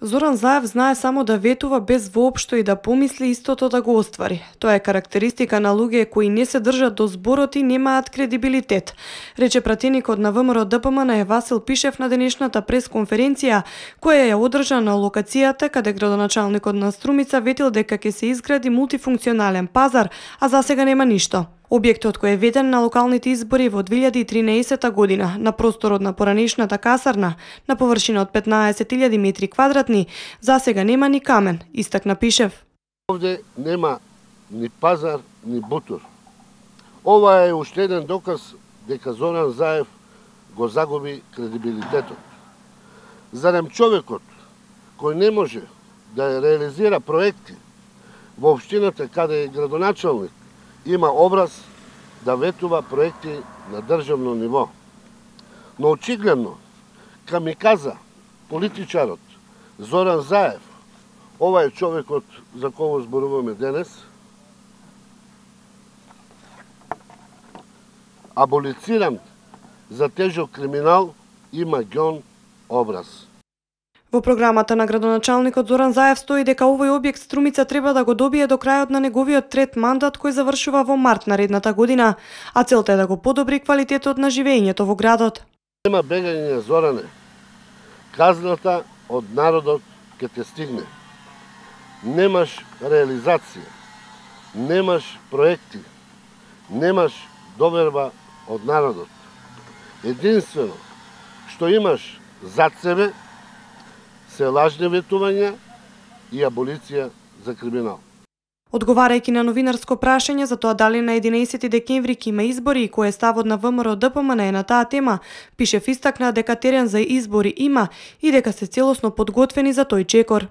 Зоран Заев знае само да ветува без воопшто и да помисли истото да го оствари. Тоа е карактеристика на луѓе кои не се држат до зборот и немаат кредибилитет, рече пратеникот на ВМРО ДПМН Васил Пишев на денешната пресконференција, која ја одржа на локацијата каде градоначалникот на Струмица ветил дека ќе се изгради мултифункционален пазар, а засега нема ништо. Објектот кој е веден на локалните избори во 2013 година на просторот на поранешната касарна на површина од 15.000 метри квадратни, засега нема ни камен, истакна Пишев. Овде нема ни пазар, ни бутур. Ова е уште еден доказ дека Зоран Заев го загуби кредибилитетот. Зарем човекот кој не може да реализира проекти во општината каде е градоначалник има образ да ветува проекти на државно ниво. Но очигледно, камиказа, политичарот Зоран Заев, ова е човекот за кого зборуваме денес, аболициран за тежок криминал, има гон образ. Во програмата на градоначалникот Зоран Заев стои дека овој објект Струмица треба да го добие до крајот на неговиот трет мандат кој завршува во март наредната година, а целта е да го подобри квалитетот на живеењето во градот. Нема бегање, Зоране. Казната од народот ќе те стигне. Немаш реализација, немаш проекти, немаш доверба од народот. Единствено што имаш зад себе се лажни ветувања и аболиција за криминал. Одговарајќи на новинарско прашање за тоа дали на 11 декември ќе има избори и кој е ставот на ВМРО ДПМН е на таа тема, Пишев истакна дека терен за избори има и дека се целосно подготвени за тој чекор.